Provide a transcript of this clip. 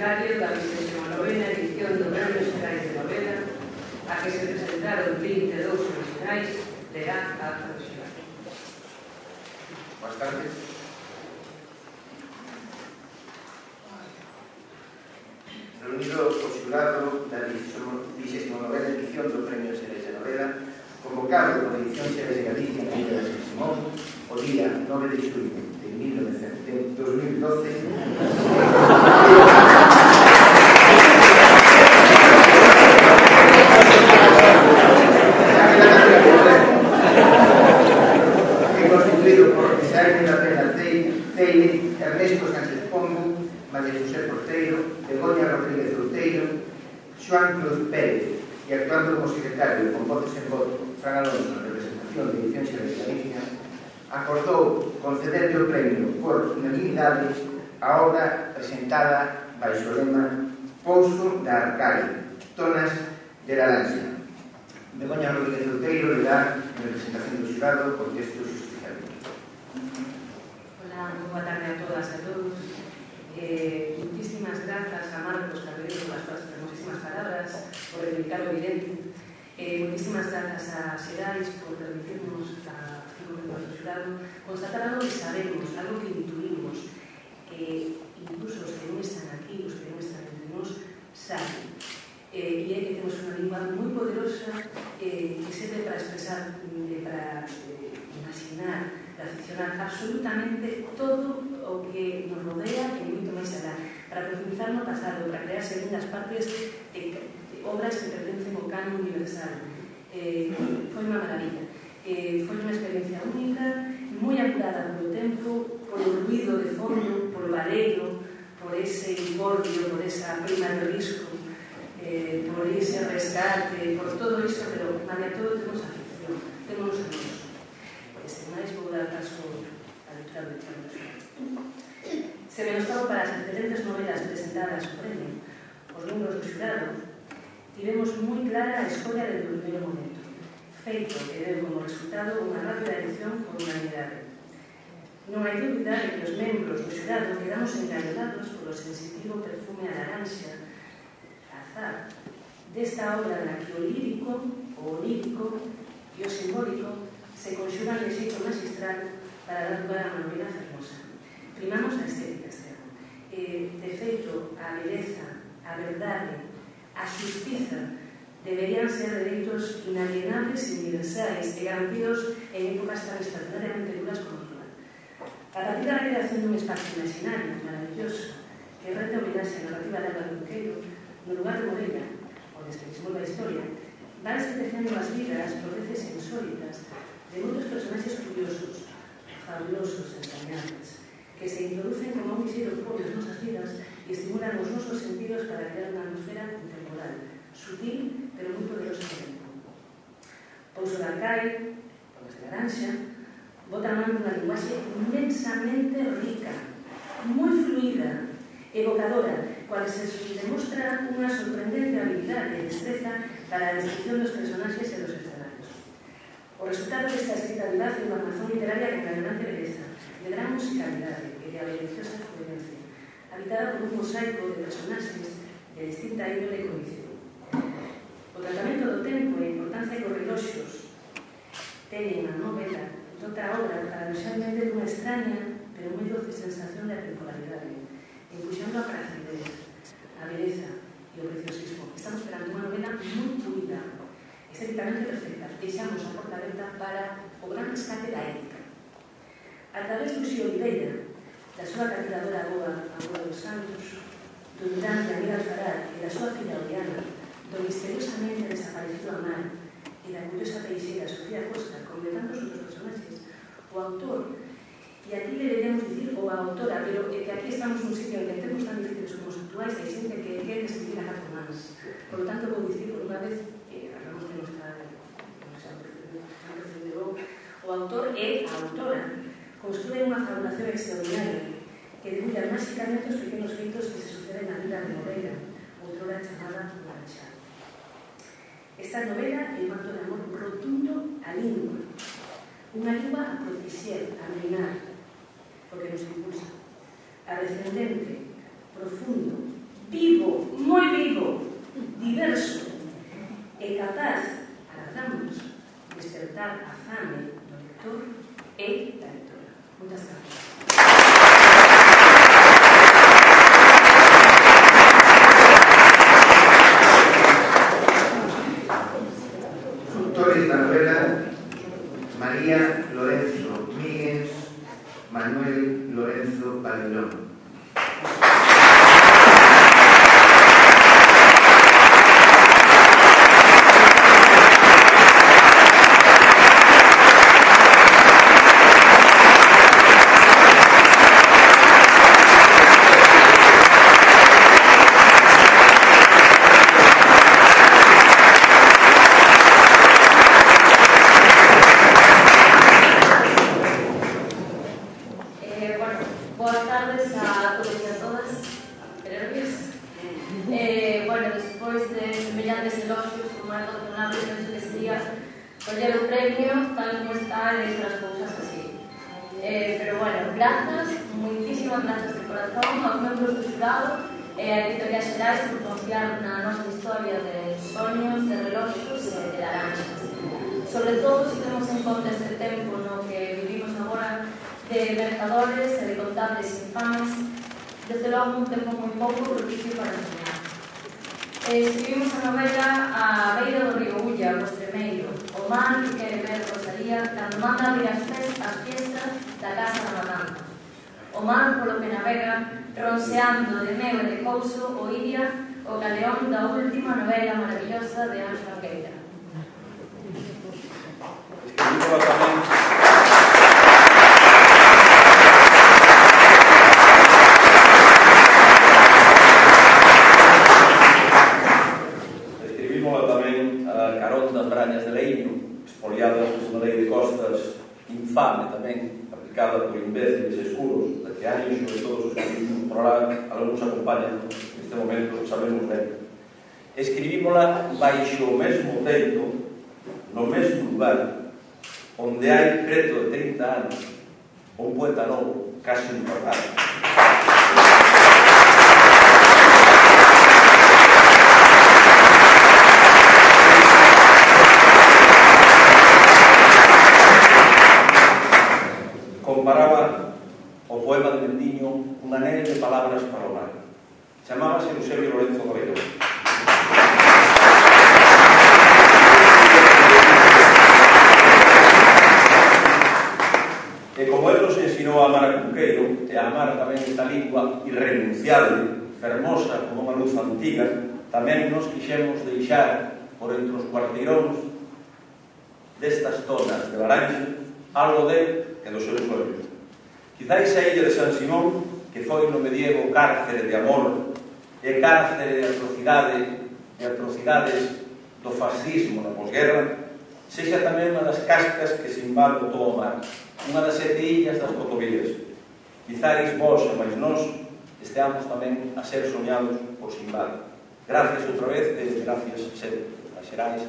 aniversario da 29ª edición do Premio Xerais de Novela, a que se presentaron 22 originais, lerá a acta do xurado. Boas tardes. Reunido o xurado da 29ª edición do Premio Xerais de Novela, convocado por a edición Xerais de Galicia na Vila de San Simón, o día 9 de xullo de 2012, constituído por Isaías da Pena Ceire, Ernesto Sánchez Pombo, María José Porteiro, Begoña Rodríguez Outeiro, Xoán Cruz Pérez, e actuando como secretario con voces en voto Fran Alonso en representación de Edición Xerais de Galicia, acordou concederle o premio por unanimidade a obra presentada baixo o lema Pouso da Arcaria, Tonas de Laranxa. Begoña Rodríguez Outeiro lerá en representación do xurado por texto justificado. Hola, boa tarde a todas e a todos. Muchísimas grazas a Marcos Carreiro por as súas hermosísimas palabras, por reivindicar o evidente. Muchísimas grazas a Xerais por permitirnos a 5 membros do xurado constatar algo que sabemos, algo que intuimos, que incluso os que non están aquí, os que non están entre nós, saben. E é que temos unha lingua moi poderosa que serve para expresar, para imaginar, para ficcionar absolutamente todo o que nos rodea e moito máis alá, para profundizar no pasado, para crear segundas partes de obras que pertencen ao canon universal. Foi unha maravilla. Foi unha experiencia única, moi apurada polo tempo, polo ruido de fondo, polo baleiro, por ese incordio, por esa prima de risco, por ese rescate, por todo iso, pero malia todo temos a ficción, temos a nós. Este máis vou dar paso a lectura do Xurado. Se menoscabo para as excelentes novelas presentadas ao premio, os membros do xurado tivemos moi clara a escolla desde o primeiro momento, feito que deu como resultado unha rápida elección por unanimidade. Non hai dúbida de que os membros do xurado quedamos engañados polo sensitivo perfume a laranxa, azar, desta obra na que o lírico, o onírico e o simbólico se conxugan de xeito magistral para dar lugar a unha novela fermosa. Primamos a estética externa. De feito, a beleza, a verdade, a xustiza deberían ser dereitos inalienables e universais e garantidos en épocas tan extraordinariamente duras como a actual. A partir da creación dun espacio imaginario maravilloso que rete homenaxe a narrativa de Álvaro Cunqueiro, no lugar de Morella, onde se desenvolve a historia, van tecendo as vidas por veces insólitas de moitos personaxes curiosos, fabulosos, entrañables, que se introducen como un visiro por nas nosas vidas e estimulan os nosos sentidos para crear unha atmosfera intemporal, sutil, pero moi poderosa ao tempo. Pouso da Arcaria, Tonas de Laranxa, bota a man dunha linguaxe inmensamente rica, moi fluida, evocadora, cual se demostra unha sorprendente habilidade e destreza para a descripción dos personaxes e dos escenarios. O resultado desta escrita vivaz é unha armazón literaria con granulante beleza, de gran musicalidade e de avariciosa coherencia, habitada por un mosaico de personaxes de distinta índole e condición. O tratamento do tempo e a importancia que os reloxos teñen na novela dota a obra paradoxalmente dunha extraña pero moi doce sensación de atemporalidade, empuxando a pracidez, a beleza e o preciosismo. Estamos esperando unha novela moi pulida, estéticamente perfecta. Deixamos a porta aberta para o gran rescate da ética. A través do Xio Oliveira, da súa capitadora Agoa dos Santos, do Durán de Aníbal Faral e da súa filla Oriana, do misteriosamente desaparecido Amar e da curiosa peixeira Sofía Costa, como de tantos outros personaxes, o autor, e aquí deberíamos dicir o autora, pero que aquí estamos nun sitio en que temos tan difíciles como os actuais, hai xente que quere escribir a catro mans. Por lo tanto, vou dicir por unha vez, hablamos que non está o autor e a autora construen unha fabulación extraordinaria que divulga máxicamente os pequenos feitos que se suceden na vida de novela, outrora chamada Laranxa. Esta novela é un acto de amor rotundo á lingua, unha lingua a protexer, a minar, porque nos impulsa, a descendente, profundo, vivo, moi vivo, diverso e capaz, agardamos, despertar a fame do lector e da lectora. Moitas gracias. Autores da novela: María Lorenzo Míguez, Manuel Lorenzo Babilón. Sobre todo se temos en conta este tempo no que vivimos agora de mercadores e de contables infames, desde logo un tempo moi pouco propicio para enseñar. Escribimos a novela a beira do río Ulla, o Estremeiro, o mar que quere ver Rosalía cando manda abrir as fiestas da Casa da Matanza. O mar polo que navega, ronseando de meu e de couso o Iria, o galeón da última novela maravillosa de Anxo Angueira. Escribímola tamén a carón das brañas de leño, expoliadas na lei de costas, infame tamén, aplicada por imbéciles escuros, de que Anxo e todos os que vivimos por lá, algúns acompañan neste momento, sabemos ben. Escribímola baixo o mesmo teito, no mesmo lugar, onde hai preto de 30 anos un poeta novo, casi importante. Comparaba o poema de Mendiño un anel de palabras para o mar. Chamábase Eusebio Lorenzo Babilón. E como él nos ensinou a amar a Cunqueiro e a amar tamén esta lingua irrenunciable, fermosa como unha luz antiga, tamén nos quixemos deixar por entre os cuarteiróns destas zonas de Laranxe algo de e dos seus sueños. Quizáis a illa de San Simón, que foi no medievo cárcere de amor e cárcere de atrocidade e atrocidades do fascismo na posguerra, sexa tamén unha das cascas que se invade todo o mar, unha das 7 illas das Cotovías. Quizáis vós e máis nós esteamos tamén a ser soñados por Simbad. Gracias outra vez e gracias sempre. A Xerais.